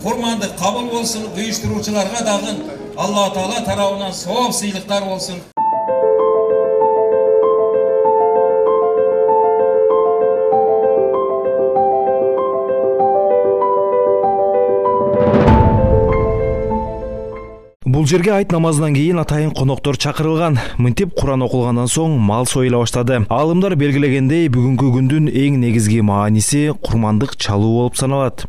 курмандык кабыл болсун, уюштуруучуларга дагы Алла Таала тарабынан сооп сыйлыктар болсун. Бул жерге айт намазынан кийин атайын коноктор чакырылган. Мынтип Куран окулгандан соң мал союла баштады. Аалымдар белгилегендей, бүгүнкү күндүн эң негизги мааниси курмандык чалуу болуп саналат.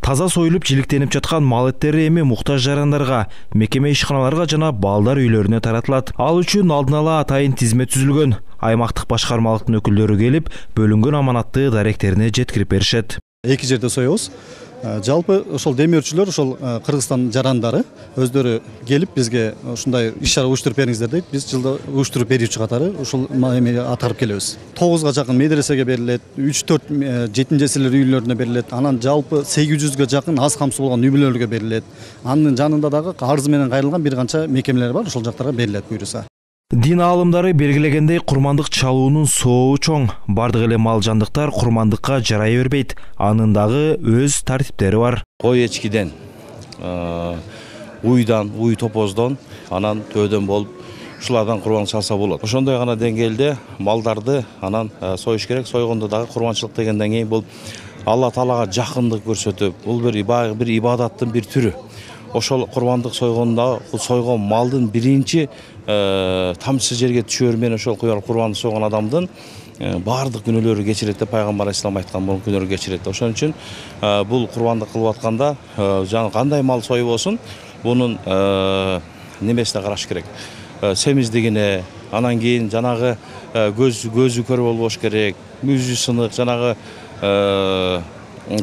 Таза союлуп жиликтенип жаткан мал эттери эми муктаж жарандарга, мекеме ишканаларга жана балдар үйлөрүнө таратылат. Ал үчүн алдын ала атайын тизме түзүлгөн. Аймактык башкармалыктын өкүлдөрү келип, бөлүнгөн аманатты даректерине жеткирип беришет. Эки жерде соебуз. Жалпы ошол демөөрчүлөр, ошол Кыргызстан жарандары өздөрү келип бизге ушундай иш-чара уюштуруп бериңиздер дейт. Биз жылда уюштуруп берүүчү катары ушул эми аткарып келебиз. 9га жакын медресеге берилет, 3-4 жетимжесирлер үйлөрүнө берилет. Анан жалпы 800ге жакын аз камсыз болгон үй бүлөлөргө берилет. Анын жанында дагы арыз менен кайрылган бир канча мекемелер бар, ошол жактарга берилет буйруса. Дин аалымдары белгилегендей, курмандык чалуунун сообу чоң. Бардык эле мал жандыктар курмандыкка жарай бербейт. Анын дагы өз тартиптери бар. Кой эчкиден, уйдан, уй топоздон, анан төөдөн болуп, ушулардан курбан чалса болот. Ошондой гана деңгээлде малдарды анан союш керек. Сойгондо дагы курбанчылык дегенден кийин бул Алла Таалага жакындык көрсөтүп, бул бир ибадаттын бир түрү. Ошол курбандык сойгондо бул сойгон малдын биринчи тамчысы жерге түшөр менен ошол курбанды сойгон адамдын баардык күнөөлөрү кечирет деп пайгамбар алейхисалам айткан, бул күнөөлөрү кечирет. Ошон үчүн бул курбандык кылып атканда жана кандай мал союп болсун, бунун немесине караш керек. Семиздигине, анан кийин жанагы көзү көрө болбош керек, мүзү сынык, жанагы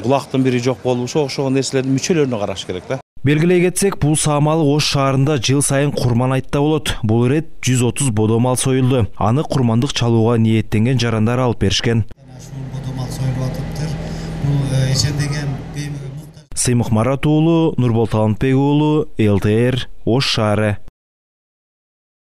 кулактын бири жок болуп, ошол нерселердин мүчөлөрүнө караш керек да. Белгилей кетсек, бул саамал Ош шаарында жыл сайын курман айтта болот. Бул ирет 130 бодо мал союлду. Аны курмандык чалууга ниеттенген жарандар алып беришкен. Бодо мал союлуп атыптыр. Бул ишендеген Сыймык Марат уулу, Нурбол Талантбек уулу, ЛТР, Ош шаары.